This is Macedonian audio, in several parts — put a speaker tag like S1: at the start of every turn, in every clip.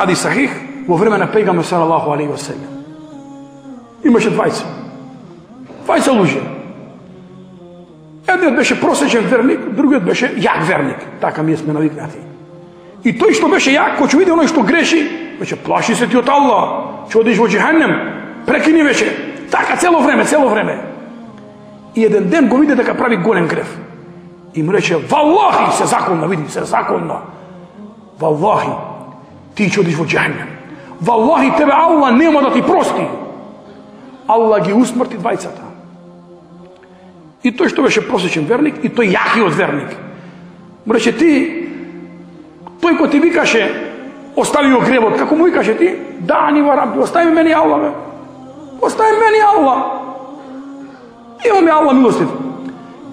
S1: хадис сахих, во време на пегамбер салалаху алейхи ва селем. Имаше двајца луѓе. Едниот беше просечен верник, другиот беше јак верник. Така ми сме навикнати. И тој што беше јак, кој ќе види оној што греши, беше плаши се ти од Аллах, ќе одиш во џехенем, прекини вече. Така цело време. И еден ден го види дека прави голем греф. И му рече: "Валлахи, се законна. Валлахи, ти ќе одиш во џехенем. Валлахи, тебе Аллах нема да ти прости." Аллах ги усмрти двајцата. И тој што беше просечен верник, и тој јакиот верник. Му рече: тој кој ти викаше, остави го гревот, како му викаше ти? "Дани ва Рабби, остави мене Аллах, бе. Остави мене Аллах. Имаме Аллах милостив.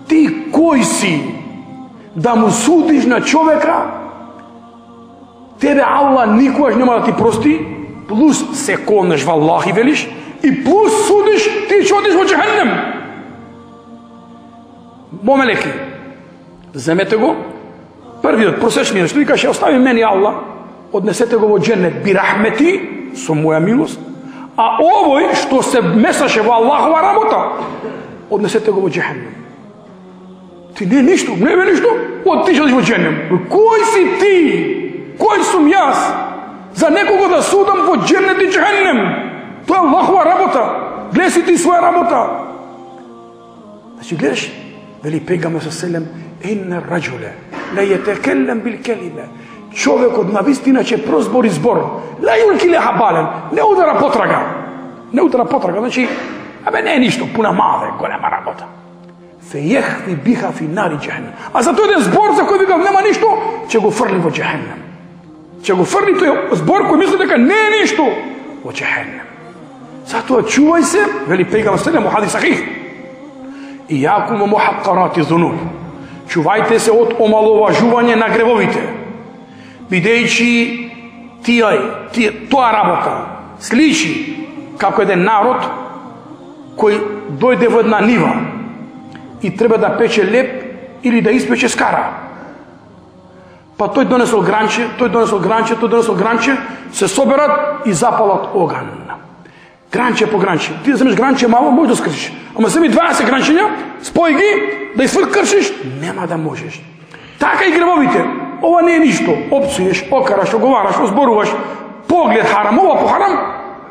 S1: Ти кој си да му судиш на човека? Тебе Аллах никогаш нема да ти прости, плюс се конеш во Аллах и велиш, и плюс судиш, ти ќе одиш во џехенем." Момелеки, земете го, првиот просечниот што викаше: "Остави мене Аллах, однесете го во џеннет би рахмети, со моја милост, а овој што се месаше во Аллахова работа, однесете го во џехенем." Ти не ништо, не бе ништо, ти ќе одиш во џехенем. Кој си ти? Кој сум јас за некого да судам во џеннет и џехенем? Тоа е Аллахова работа. Гледај си ти своја работа. Значи гледаш, вели пегамбер селем: "Инна раџуле ла јетекеллем бил келиме." Човекот навистина ќе прозбори збор. Ла јулки леха бален, не удара потрага. Значи, не е ништо, пуна маве, голема работа. Фејехви биха фи нари џехенем. А за тој еден збор за кој викал нема ништо, ќе го фрли во џехенем. Ќе го фрли тој збор кој мисли дека не е ништо во џехенем. Затоа чувај се, вели пегамбер селем во хадис сахих: "Ијакум ва мухаққарати зунуб." Чувајте се од омаловажување на гревовите, бидејќи тоа работа сличи како еден народ кој дојде во една нива и треба да пече леп или да испече скара. Па тој донесол гранче, се соберат и запалат оган. Гранче по гранче. Ти да земеш гранче мало, можеш да скршиш. Ама семи 20 гранчења, спој ги, да кршиш, нема да можеш. Така и гревовите. Ова не е ништо. Опцуеш, окараш, оговараш, озборуваш, поглед харам, ова по харам,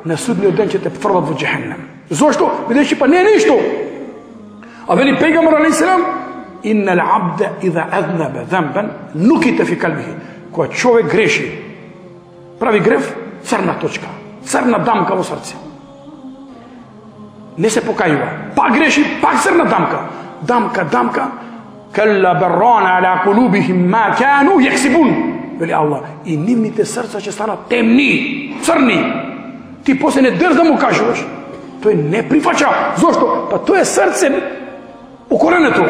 S1: на судниот ден ќе те фрлат во џехенем. Зошто? Бидејќи па не е ништо. А вели пегамбер алейхи селам: "Иннал абда иза азнабе замбан нукита фи калбихи." Кога човек греши, прави греф, црна точка, црна дамка во срце. Не се покајува. Пак греши, пак црна дамка. Дамка. Калла баррана ала кулубихим ма кану јексибун. Вели Аллах, и нивните срца ќе станат темни, црни. Ти после не држ да му кажуваш. Тој не прифаќа. Зошто? Па тоа е срце укоренето.